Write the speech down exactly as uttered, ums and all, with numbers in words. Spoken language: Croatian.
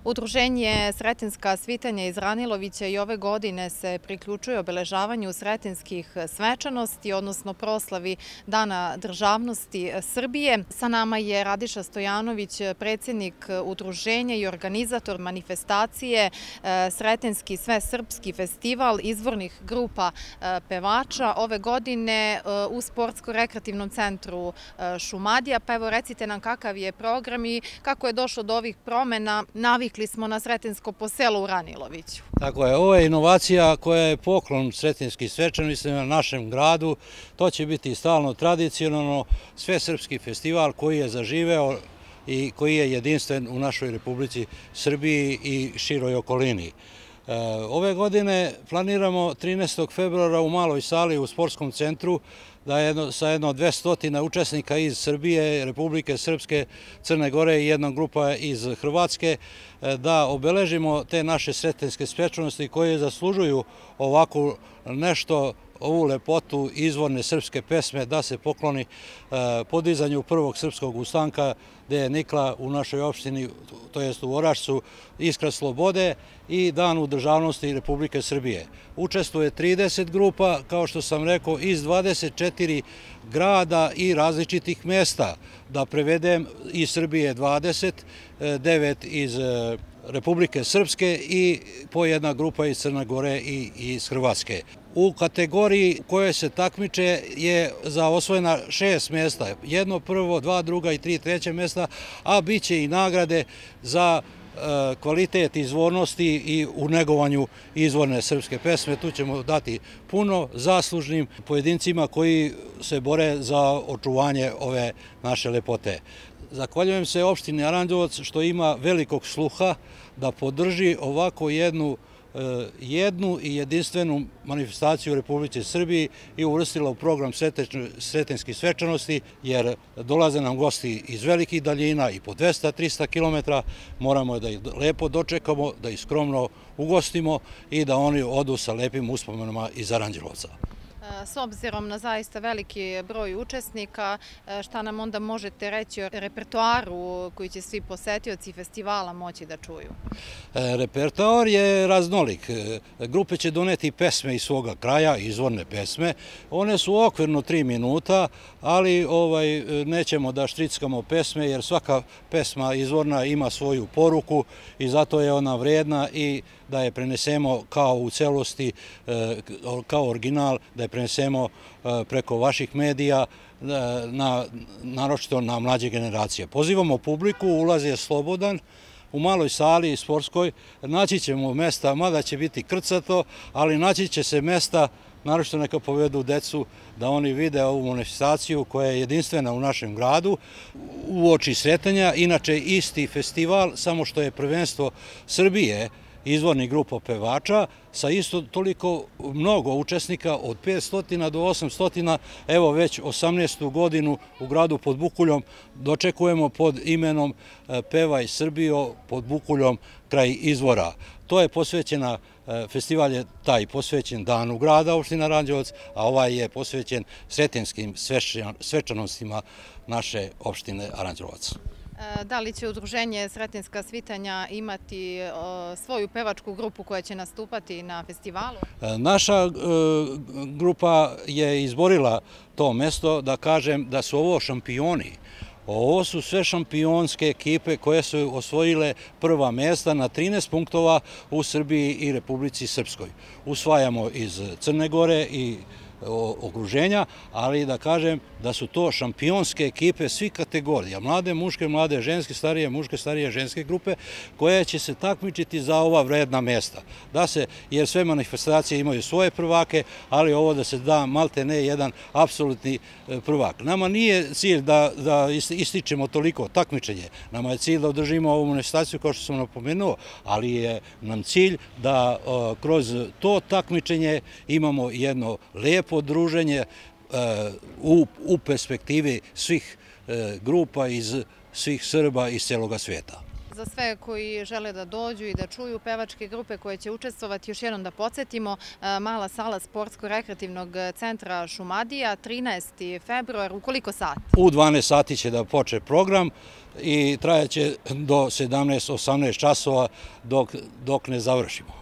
Udruženje Sretenjska svitanja iz Ranilovića i ove godine se priključuje obeležavanju sretenjskih svečanosti, odnosno proslavi Dana državnosti Srbije. Sa nama je Radiša Stojanović, predsjednik udruženja i organizator manifestacije Sretenjski svesrpski festival izvornih grupa pevača ove godine u Sportsko-rekreativnom centru Šumadija. Pa evo recite nam kakav je program i kako je došlo do ovih promjena. Navikli smo na Sretenjsko po selu u Raniloviću. Tako je, ovo je inovacija koja je poklon sretenjskih svečanostima na našem gradu. To će biti stalno tradicionalno svesrpski festival koji je zaživeo i koji je jedinstven u našoj Republici Srbiji i široj okolini. Ove godine planiramo trinaestog februara u maloj sali u sportskom centru da je sa jedno dvesta učesnika iz Srbije, Republike Srpske, Crne Gore i jedna grupa iz Hrvatske da obeležimo te naše sretenjske svečanosti koje zaslužuju ovako nešto, ovu lepotu izvorne srpske pesme, da se pokloni podizanju prvog srpskog ustanka gde je nikla u našoj opštini, to jest u Orašcu, Iskra slobode i Danu državnosti Republike Srbije. Učestvuje trideset grupa, kao što sam rekao, iz dvadeset četiri grada i različitih mesta. Da prevedem, iz Srbije dvadeset, devet iz Republike Srpske i po jedna grupa iz Crne Gore i iz Hrvatske. U kategoriji koje se takmiče je za osvojena šest mjesta, jedno prvo, dva druga i tri treće mjesta, a bit će i nagrade za kvalitet izvornosti i u negovanju izvorne srpske pesme. Tu ćemo dati puno zaslužnim pojedincima koji se bore za očuvanje ove naše lepote. Zahvaljujem se opštini Aranđelovac što ima velikog sluha da podrži ovako jednu jednu i jedinstvenu manifestaciju u Republici Srbiji i uvrstila u program sretenjskih svečanosti, jer dolaze nam gosti iz velikih daljina i po dvesta do trista kilometara. Moramo da ih lepo dočekamo, da ih skromno ugostimo i da oni odu sa lepim uspomenama iz Aranđelovca. S obzirom na zaista veliki broj učesnika, šta nam onda možete reći o repertoaru koji će svi posetioci festivala moći da čuju? Repertoar je raznolik. Grupe će doneti pesme iz svoga kraja, izvorne pesme. One su okvirno tri minuta, ali nećemo da štrickamo pesme, jer svaka pesma izvorna ima svoju poruku i zato je ona vredna i da je prenesemo kao u celosti, kao original, da je prenesemo preko vaših medija, naročito na mlađe generacije. Pozivamo publiku, ulaz je slobodan, u maloj sali sportskoj naći ćemo mesta, mada će biti krcato, ali naći će se mesta, naročito neka povedu decu, da oni vide ovu manifestaciju koja je jedinstvena u našem gradu u oči Sretenja. Inače isti festival, samo što je prvenstvo Srbije izvornih grupa pevača, sa isto toliko mnogo učesnika, od petsto do osamsto, evo već osamnaestu godinu u gradu pod Bukuljom dočekujemo pod imenom Pevaj Srbijo pod Bukuljom kraj izvora. To je posvećena, festival je taj posvećen Danu grada opština Aranđelovac, a ovaj je posvećen sretenjskim svečanostima naše opštine Aranđelovac. Da li će udruženje Sretenjska svitanja imati svoju pevačku grupu koja će nastupati na festivalu? Naša grupa je izborila to mesto, da kažem da su ovo šampioni. Ovo su sve šampionske ekipe koje su osvojile prva mjesta na trinaest punktova u Srbiji i Republici Srpskoj. Usvajamo iz Crne Gore i okruženja, ali da kažem da su to šampionske ekipe svih kategorija, mlade muške, mlade ženske, starije muške, starije ženske grupe, koje će se takmičiti za ova vredna mjesta. Da se, jer sve manifestacije imaju svoje prvake, ali ovo da se da malte ne jedan apsolutni prvak. Nama nije cilj da ističemo toliko takmičenje, nama je cilj da održimo ovu manifestaciju kao što sam napomenuo, ali je nam cilj da kroz to takmičenje imamo jedno lepo druženje u perspektivi svih grupa iz svih Srba iz celoga sveta. Za sve koji žele da dođu i da čuju pevačke grupe koje će učestvovati, još jednom da podsjetimo, mala sala Sportsko-rekreativnog centra Šumadija, trinaesti februar, u koliko sati? U dvanaest sati će da počne program i trajaće do sedamnaest osamnaest časova dok ne završimo.